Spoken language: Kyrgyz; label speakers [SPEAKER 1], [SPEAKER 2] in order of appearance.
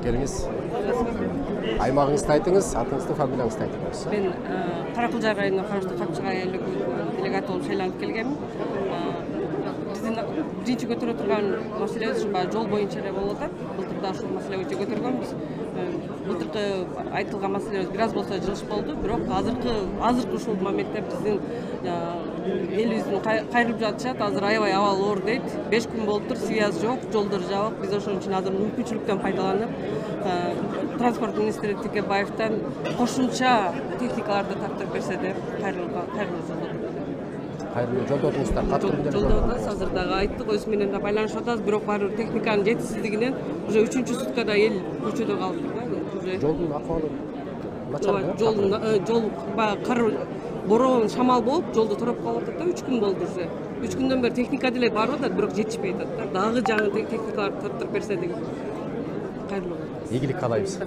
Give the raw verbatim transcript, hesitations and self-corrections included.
[SPEAKER 1] Келиңиз. Аймагыңызды айтыңыз, атыңызды, фамилияңызды айтыңыз.
[SPEAKER 2] Мен Каракылжар районунун караштуу Капчык айылдык делегат болуп шайланып келгенмин. Биздин биринчи көтөрө турган маселебиз ушу баягы жол боюнча эле болуп атат. Былтыр да ушул маселе боюнча көтөргөнбүз. Былтыркы айтылган маселебиз бир аз болсо жылыш болду, бирок азыркы азыркы ушул моментте биздин элибиздин кайрылып жатышат. Азыр аябай абал оор дейт. беш күн болуптур, связь жок, жолдор жабык. Биз ошон үчүн азыр мүмкүнчүлүктөн пайдаланып, транспорт министри Текебаевден кошумча техникаларды тартып берсе деп кайрылып кайрылып
[SPEAKER 1] Кайрылуу жолдодуңуздар, катуу
[SPEAKER 2] жолдодубуз. Азыр дагы айттык, өзү менен да байланышып атабыз, бирок баары бир техниканын жетишсиздигинен уже үчүнчү суткада эл көчөдө калып туруп.
[SPEAKER 1] Жолдун акыбалы начар.
[SPEAKER 2] Жолдун жол баягы кар бороон, шамал болуп, жолду тороп калып атат да, үч күн болду уже. үч күндөн бери техника деле барып атат, бирок жетишпей атат да. Дагы жаңы техникаларды тартып берсе деген. Кайрылуу.
[SPEAKER 1] Ийгилик каалайбыз.